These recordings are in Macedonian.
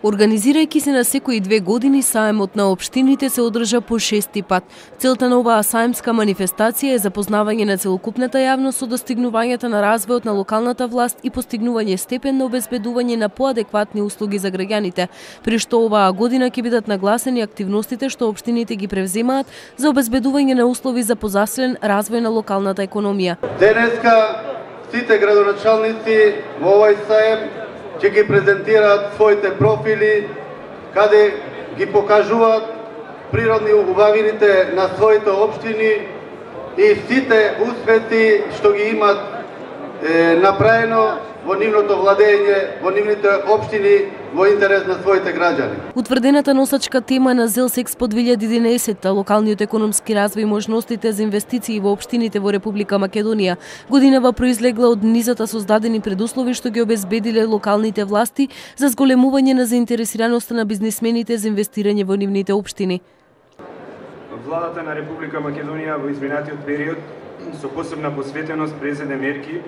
Организирајќи се на секои 2 години, саемот на општините се одржа по 6-ти пат. Целта на оваа саемска манифестација е запознавање на целокупната јавност со достигнувањата на развојот на локалната власт и постигнување степен на обезбедување на поадекватни услуги за граѓаните, при што оваа година ќе бидат нагласени активностите што општините ги превземаат за обезбедување на услови за позаселен развој на локалната економија. Денеска сите градоначалници во овој саем ќе ги презентираат своите профили, каде ги покажуваат природни убавините на своите општини и сите успети што ги имат направено во нивното владење, во нивните општини, во интерес на своите граѓани. Утврдената носачка тема на Зелсекспо 2011, локалниот економски развој и можностите за инвестиции во општините во Република Македонија, годинава произлегла од низата создадени предуслови што ги обезбедиле локалните власти за зголемување на заинтересираноста на бизнисмените за инвестирање во нивните општини. Владата на Република Македонија во изминатиот период со посебна посветеност презеде мерки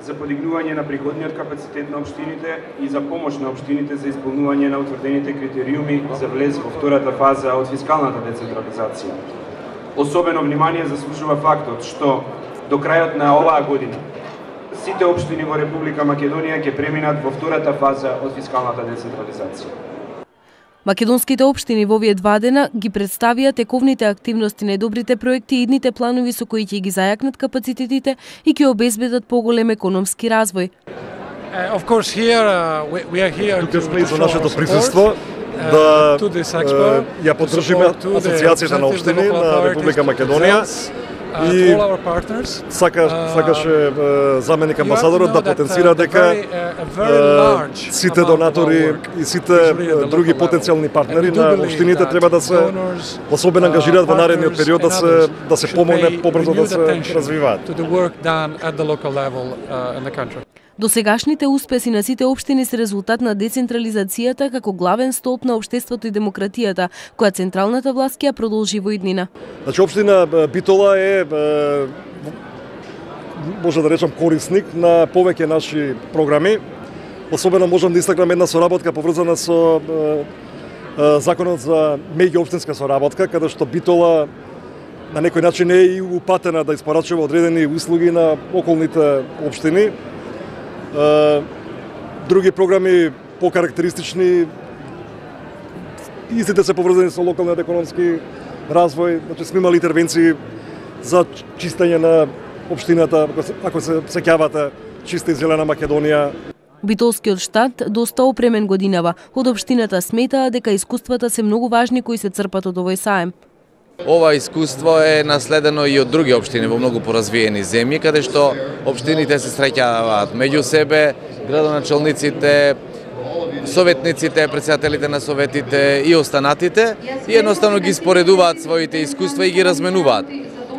за подигнување на приходниот капацитет на општините и за помош на општините за исполнување на утврдените критериуми за влез во втората фаза од фискалната децентрализација. Особено внимание заслужува фактот што до крајот на оваа година сите општини во Република Македонија ќе преминат во втората фаза од фискалната децентрализација. Македонските општини во овие 2 дена ги представија тековните активности, најдобрите проекти и идните планови со кои ќе ги зајакнат капацитетите и ќе обезбедат поголем економски развој. Тука сме за нашето присуство да ја поддржиме Асоциацијата на општини на Република Македонија и сакаше заменик амбасадорот да потенцира дека сите донатори и сите други потенцијални партнери на општините треба да се особено ангажираат во наредниот период да се помогне побрзо да се развиваат. Досегашните успеси на сите општини се резултат на децентрализацијата како главен столб на општеството и демократијата, која централната власт ќе ја продолжи во иднина. Значи општина Битола е може да речам корисник на повеќе наши програми. Особено можам да истакнам една соработка поврзана со законот за меѓуопштинска соработка, каде што Битола на некој начин е и упатена да испорачува одредени услуги на околните општини. Други програми покарактеристични истите се поврзани со локалниот економски развој. Значи сме имали интервенции за чистење на општината, ако се сеќавате, чиста и зелена Македонија. Битолскиот штат доста опремен годинава. Од општината сметаа дека искуствата се многу важни кои се црпат од овој саем. Ова искуство е наследено и од други општини во многу поразвиени земји, каде што општините се среќаваат меѓу себе, градоначалниците, советниците, претседателите на советите и останатите и едноставно ги споредуваат своите искуства и ги разменуваат.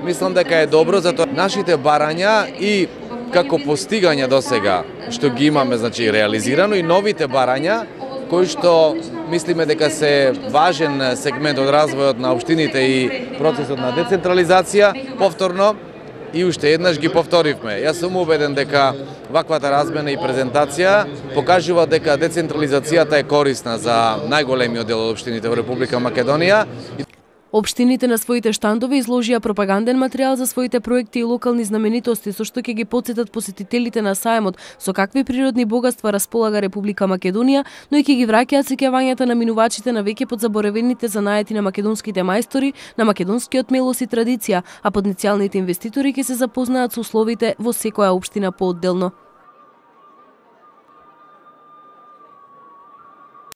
Мислам дека е добро, затоа нашите барања и како постигања досега што ги имаме, значи реализирано, и новите барања кои што мислиме дека се важен сегмент од развојот на општините и процесот на децентрализација, повторно и уште еднаш ги повторивме. Јас сум убеден дека ваквата размена и презентација покажува дека децентрализацијата е корисна за најголемиот дел од општините во Република Македонија. Општините на своите штандови изложија пропаганден материјал за своите проекти и локални знаменитости, со што ќе ги потсетат посетителите на саемот со какви природни богатства располага Република Македонија, но и ќе ги враќаат сеќавањата на минувачите на веќе подзаборавените занаети на македонските мајстори, на македонскиот мелос и традиција, а потенцијалните инвеститори ќе се запознаат со условите во секоја општина поодделно.